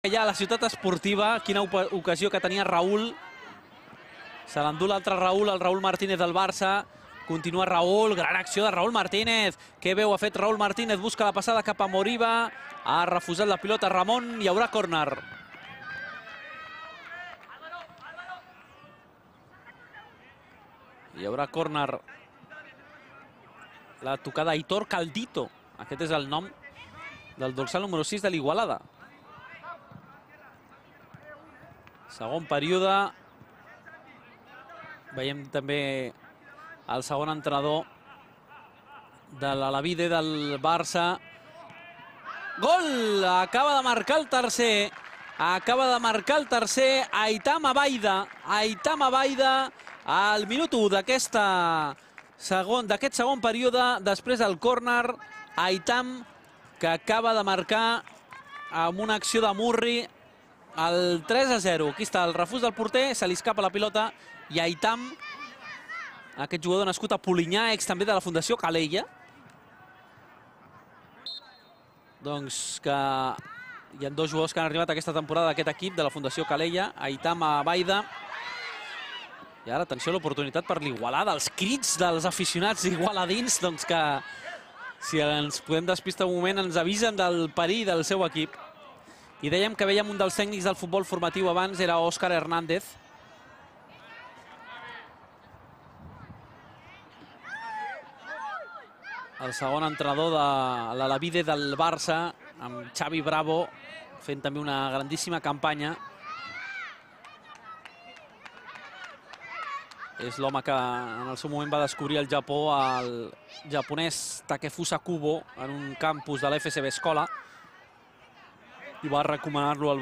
Ja a la ciutat esportiva, quina ocasió que tenia Raúl. Se l'endú l'altre Raúl, el Raúl Martínez del Barça. Continua Raúl, gran acció de Raúl Martínez. Que bé ho ha fet Raúl Martínez, busca la passada cap a Moriba. Ha refusat la pilota Ramon, hi haurà córner. Hi haurà córner. La tocada Aitor Caldito. Aquest és el nom del dorsal número 6 de l'Igualada. Segon període. Veiem també el segon entrenador de l'Alavide del Barça. Gol! Acaba de marcar el tercer. Acaba de marcar el tercer Aitam Abaida. Aitam Abaida al minut 1 d'aquest segon període. Després del córner, Aitam, que acaba de marcar amb una acció de Murri el 3-0. Aquí està el refús del porter, se li escapa la pilota i Aitam, aquest jugador nascut a Polinyà, ex també de la Fundació Calella, doncs que hi ha dos jugadors que han arribat aquesta temporada d'aquest equip de la Fundació Calella, Aitam Abaida. I ara, atenció a l'oportunitat per l'Igualada, els crits dels aficionats igualadins, doncs que si ens podem despistar un moment ens avisen del perill del seu equip. I dèiem que veiem un dels tècnics del futbol formatiu abans, era Òscar Hernández. El segon entrenador de l'Alavide del Barça, amb Xavi Bravo, fent també una grandíssima campanya. És l'home que en el seu moment va descobrir el Japó, el japonès Takefusa Kubo, en un campus de l'FCB Escola, i va recomanar-lo al